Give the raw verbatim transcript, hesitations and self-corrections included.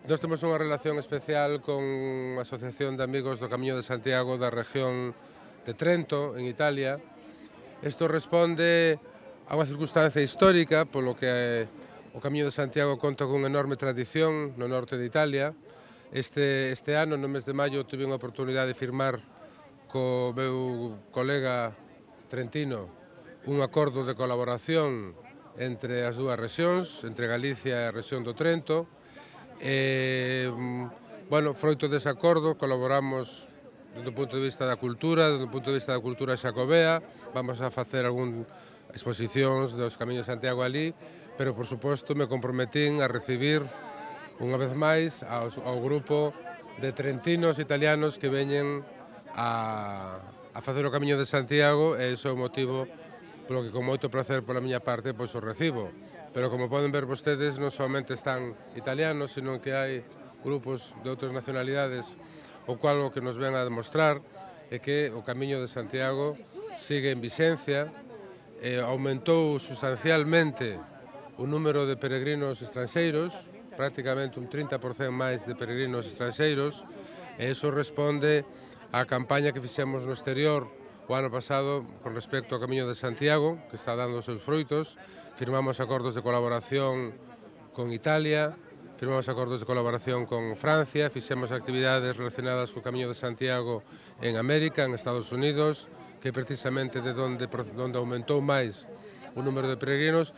Nós temos unha relación especial con a Asociación de Amigos do Camiño de Santiago da región de Trento, en Italia. Isto responde a unha circunstancia histórica polo que o Camiño de Santiago conta cunha enorme tradición no norte de Italia. Este, este ano, no mes de maio, tive unha oportunidade de firmar co meu colega trentino un acordo de colaboración entre as dúas rexións, entre Galicia e a rexión do Trento. E, bueno, froito dese acordo, colaboramos desde o punto de vista da cultura, desde o punto de vista da cultura xacobea. Vamos a facer algún exposicións dos Camiños de Santiago ali, pero, por suposto, me comprometín a recibir unha vez máis aos, ao grupo de trentinos italianos que veñen a, a facer o Camiño de Santiago, e iso é o motivo polo que con moito placer pola miña parte pois o recibo. Pero como poden ver vostedes, non somente están italianos, senón que hai grupos de outras nacionalidades, o cual o que nos ven a demostrar é que o Camiño de Santiago sigue en vixencia, eh, aumentou sustancialmente o número de peregrinos estranxeiros, prácticamente un trinta por cento máis de peregrinos estranxeiros, e iso responde á campaña que fixemos no exterior o ano pasado con respecto ao Camiño de Santiago, que está dando os seus fruitos. Firmamos acordos de colaboración con Italia, firmamos acordos de colaboración con Francia, fixemos actividades relacionadas co Camiño de Santiago en América, en Estados Unidos, que é precisamente de onde, onde aumentou máis o número de peregrinos.